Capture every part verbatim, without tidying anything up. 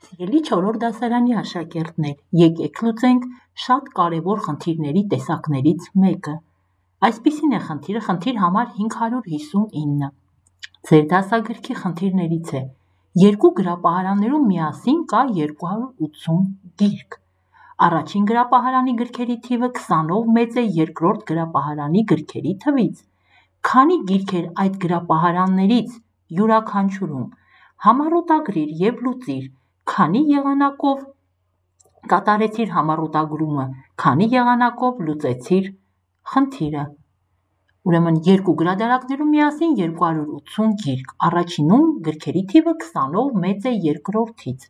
Սիրելի չորրորդ դասարանի աշակերտներ, եկեք լուծենք շատ կարևոր խնդիրների տեսակներից մեկը։ Այսպիսին է խնդիրը, խնդիր համար հինգ հարյուր հիսունինը։ Ձեր դասագրքի խնդիրներից է. երկու գրապահարաններում միասին կա երկու հարյուր ութսուն գիրք։ Առաջին գրապահարանի գրքերի թիվը քսանով մեծ է երկրորդ գրապահարանի գրքերի թվից։ Քանի գիրք էր այդ գրապահարաններից յուրաքանչյուրում։ Համառոտագրիր և լուծիր, քանի եղանակով կատարեցիր համառոտագրումը, քանի եղանակով լուծեցիր խնդիրը։ Ուրեմն երկու գրադարաններում միասին երկու հարյուր ութսուն գիրք, առաջինում գրքերի թիվը քսանով մեծ է երկրորդից։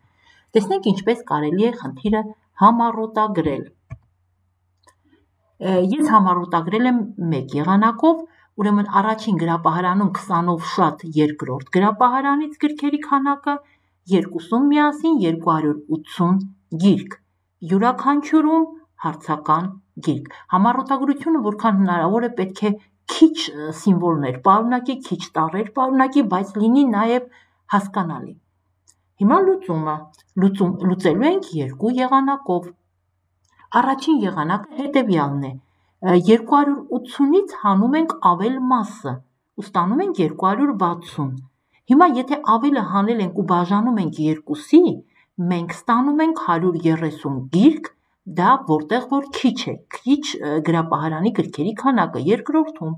Տեսնենք ինչպես կարելի է խնդիրը համառոտագրել։ Ես համառոտագրել եմ մեկ եղանակով, ուրեմն առաջին գրապահարանում քսանով շատ երկրորդ գրապահարանից գրքերի քանակը, երկուսում միասին երկու հարյուր ութսուն գիրք, յուրաքանչյուրում հարցական գիրք։ Համառոտագրությունը որքան հնարավոր է պետք է քիչ սիմվոլներ պարունակի, քիչ տառեր պարունակի, բայց լինի նաև հասկանալի։ Հիմա լուծումը։ Լուծում լուծելու ենք երկու եղանակով։ Առաջին եղանակը հետևյալն է. երկու հարյուր ութսունից հանում ենք ավել մասը ու ստանում ենք երկու հարյուր վաթսուն։ Հիմա եթե ավելը հանել ենք ու բաժանում ենք երկուսի, մենք ստանում ենք հարյուր երեսուն գիրք, դա որտեղ որ քիչ է, քիչ գրապահարանի գրքերի քանակը երկրորդում,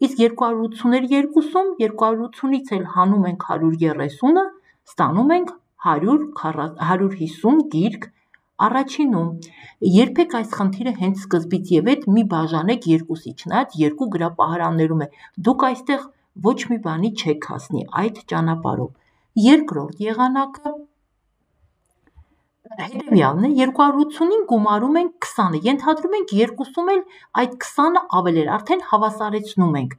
իսկ երկու հարյուր ութսուներ երկուսում, երկու հարյուր ութսունից էլ հանում ենք հարյուր երեսունը, ստանում ենք հարյուր հիսուն գիրք առաջինում։ Երբեք այս խնդիրը հենց սկզբից և հետ մի բաժանեք երկուսի, չնայած երկու գրապահարաններում է, դուք այստեղ ոչ մի բանի չեք հասնի այդ ճանապարհով։ Երկրորդ եղանակը հետևյալն է, երկու հարյուր ութսունին գումարում ենք քսանը, ենթադրում ենք երկուսում էլ այդ քսանը ավել էր, արդեն հավասարեցնում ենք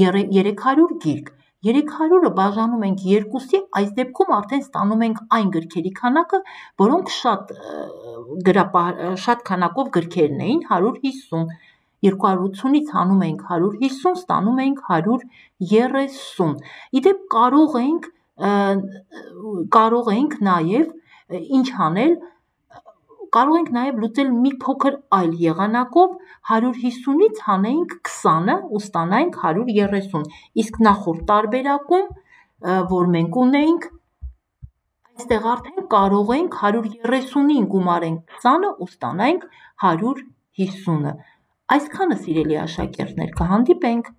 երեք հարյուր գիրք, երեք հարյուրը բաժանում ենք երկուսի, այս դեպքում արդեն ստանում ենք այն գրքերի քանակը, որոնք շատ շատ քանակով գրքերն էին, հարյուր հիսուն, երկու հարյուր ութսունից հանում ենք հարյուր հիսուն, ստանում ենք հարյուր երեսուն։ Իդեպ կարող ենք կարող ենք նաև ինչ անել, կարող ենք նաև լուծել մի փոքր այլ եղանակով, հարյուր հիսունից հանենք քսանը ու ստանանք հարյուր երեսուն, իսկ նախորդ տարբերակում, որ մենք ունեինք, այստեղ արդեն կարող ենք հարյուր երեսունին գումարենք քսանը ու ստանանք հարյուր հիսունը։ Այսքանը, սիրելի աշակերտներ, կհանդիպենք